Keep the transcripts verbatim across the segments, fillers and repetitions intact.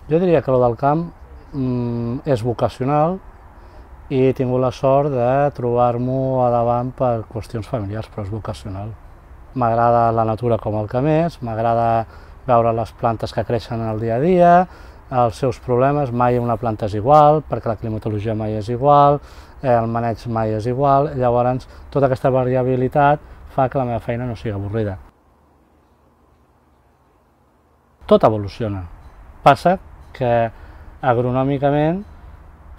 Jo diria que el del camp mm, és vocacional i he tingut la sort de trobar-m'ho a davant per qüestions familiars, però és vocacional. M'agrada la natura com el que més, m'agrada veure les plantes que creixen el dia a dia, els seus problemes, mai una planta és igual, perquè la climatologia mai és igual, eh, el maneig mai és igual, llavors tota aquesta variabilitat fa que la meva feina no sigui avorrida. Tot evoluciona. Passa que agronòmicament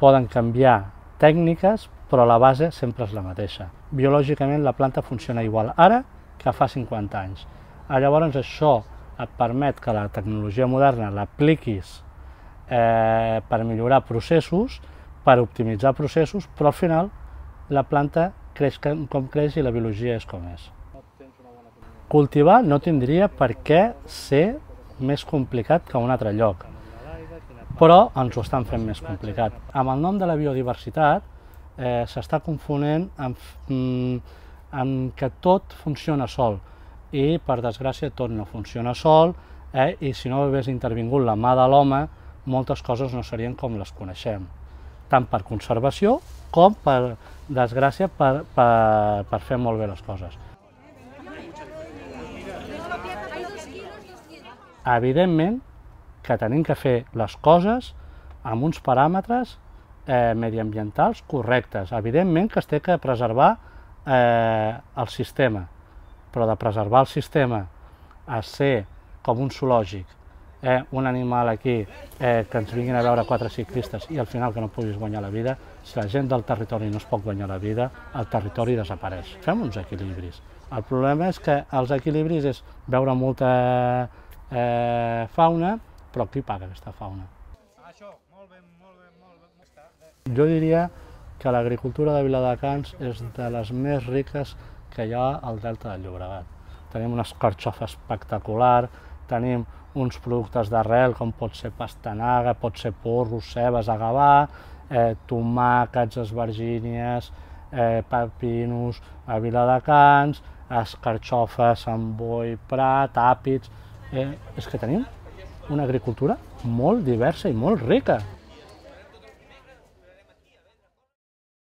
poden canviar tècniques, però la base sempre és la mateixa. Biològicament la planta funciona igual ara que fa cinquanta anys. Llavors això et permet que la tecnologia moderna l'apliquis eh, per millorar processos, per optimitzar processos, però al final la planta creix com creix i la biologia és com és. Cultivar no tindria per què ser més complicat que un altre lloc, però ens ho estan fent més complicat. Amb el nom de la biodiversitat eh, s'està confonent amb, amb que tot funciona sol, i per desgràcia tot no funciona sol, eh, i si no hagués intervingut la mà de l'home, moltes coses no serien com les coneixem, tant per conservació com per desgràcia per, per, per fer molt bé les coses. Evidentment que tenim que fer les coses amb uns paràmetres eh, mediambientals correctes. Evidentment que es té que preservar eh, el sistema, però de preservar el sistema a ser com un zoològic, eh, un animal aquí eh, que ens vinguin a veure quatre ciclistes i al final que no puguis guanyar la vida, si la gent del territori no es pot guanyar la vida, el territori desapareix. Fem uns equilibris. El problema és que els equilibris és veure molta eh, fauna, però qui paga aquesta fauna? Jo diria que l'agricultura de Viladecans és de les més riques que hi ha al Delta del Llobregat. Tenim una escarxofa espectacular, tenim uns productes d'arrel com pot ser pastanaga, pot ser porros, cebes a Gavà, eh, tomàquets, esvergínies, eh, pepinos a Viladecans, escarxofes, Sant Boi, Prat, àpids... Eh, és que tenim una agricultura molt diversa i molt rica.